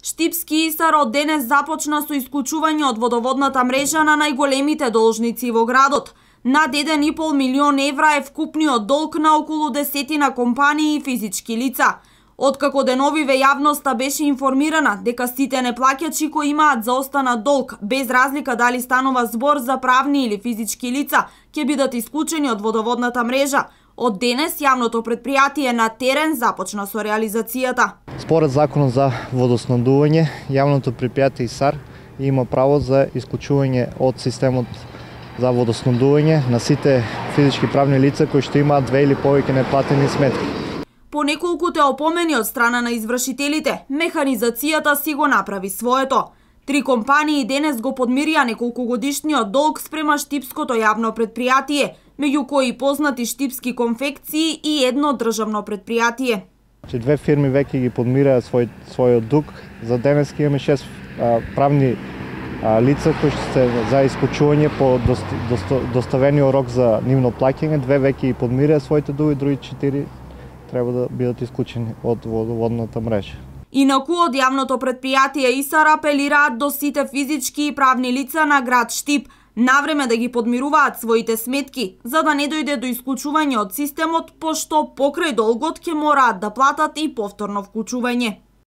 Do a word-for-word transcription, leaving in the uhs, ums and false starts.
Штипски Исар од денес започна со исклучување од водоводната мрежа на најголемите должници во градот. Над еден и пол милион евра е вкупниот долг на околу десетина компании и физички лица. Откако деновиве јавноста беше информирана дека сите неплаќачи кои имаат заостанат долг, без разлика дали станува збор за правни или физички лица, ќе бидат исклучени од водоводната мрежа. Од денес јавното претпријатие на терен започна со реализацијата. Според законот за водоснабдување, јавното претпријатие Исар има право за исклучување од системот за водоснабдување на сите физички правни лица кои што имаат две или повеќе неплатени сметки. По неколкуте опомени од страна на извршителите, механизацијата си го направи своето. Три компании денес го подмирија неколкогодишниот долг спрема Штипското јавно претпријатие, меѓу кои познати Штипски конфекции и едно државно претпријатие. Две фирми веќе ги подмираа свој, својот дуг. За денес имаме шест а, правни а, лица кои што се за исклучување по дост, дост, доставениот рок за нивно плаќање. Две веќе ги подмираа своите дуги, други четири треба да бидат исклучени од водоводната мрежа. Инаку од јавното претпријатие Исар апелираат до сите физички и правни лица на град Штип навреме да ги подмируваат своите сметки, за да не дојде до исклучување од системот, пошто покрај долгот ќе мораат да платат и повторно вклучување.